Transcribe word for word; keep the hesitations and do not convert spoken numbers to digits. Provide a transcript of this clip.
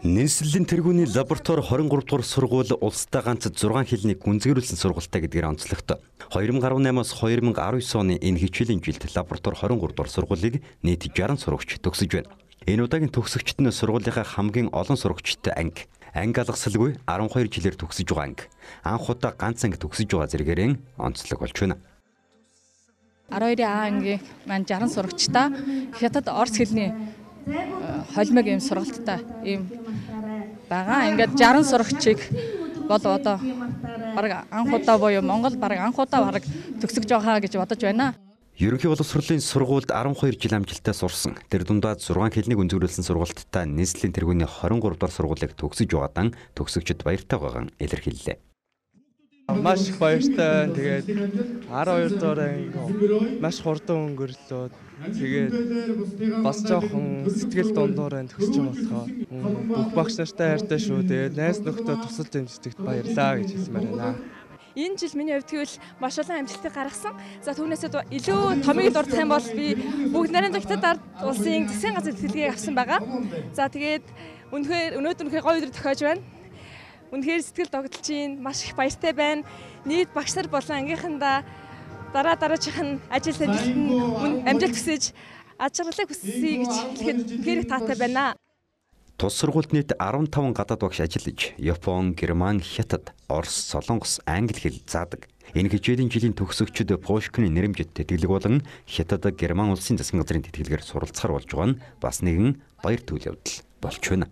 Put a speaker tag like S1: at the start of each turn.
S1: Нийслэлийн тэргүүний лаборатори двадцать три дугаар сургууль улстай ганц зургаан хэлний гүнзгийрүүлсэн сургуультай гэдгээр онцлогтой. две тысячи десять-аас две тысячи десятдесет оны энэ хичээлийн жилд лаборатори двадцать три дугаар сургуулийг нийт шестьдесят сурагч төгсөж байна. Энэ удаагийн төгсөгчд нь сургуулийнхаа хамгийн олон сурагчтай анги. Анги алгасалгүй twelve жилээр төгсөж байгаа анги. Анх удаа ганц анги төгсөж байгаа зэрэгээрээ онцлог болж байна.
S2: twelve А ангийн маань sixty сурагчтай хятад орос хэлний холимог юм сургалттай ийм байгаа. Ингээд sixty сурагчийг бол одоо бараг анх удаа буюу Монгол бараг анх удаа бараг төгсөж байгаа гэж бодож байна.
S1: Ерөнхий боловсролын сургуульд twelve жил амжилттай сурсан. Тэр дундаа зургаан хэлнийг өнзгөрүүлсэн сургалттай нийслэлийн тэргүүний twenty-three дугаар сургуулийг төгсөж байгаадан төгсөгчд баяртай байгаан илэрхийллээ.
S3: Маш их баяртай. Тэгээд twelve дугаар анги маш хурдан өнгөрлөө. Тэгээд бас жоохон сэтгэл дундуур байна төгсөж байгаа болохоор бүх багш нартай хайртай шүү. Тэгээд найз нөхдөд тусалж амжилтад баярлаа гэж хэлмээр байна.
S4: Энэ жил миний хувьд тэгвэл маш олон амжилтыг гаргасан. За түүнээсээ илүү томыг дурдах юм бол би бүгд нарийн хятад ард улсын засгийн газрын тэтгэлгийг авсан байгаа. За тэгээд үнэхээр өнөөдөр үнэхээр гоё өдөр тохиож байна. Үнэхээр сэтгэл догдолж чинь маш их баяртай байна. Нийт багш нар болон ангийнхандаа дараа дараачих нь ажил ажилтанд амжилт хүсэж аж аргалыг хүсье гэж хэлэхэд үнэхээр их таатай байна.
S1: Тус сургуульд нийт fifteen гадаад багш ажиллаж, Япон, Герман, Хятад, Орос, Солонгос, Англи хэл заадаг. Энэ хичээлийн жилийн төгсөгчид Польшны нэрэмжит тэтгэлэг болон Хятад, Герман улсын засгийн газрын тэтгэлгээр суралцахаар болж байгаа нь бас нэгэн баяр төв явдал болж байна.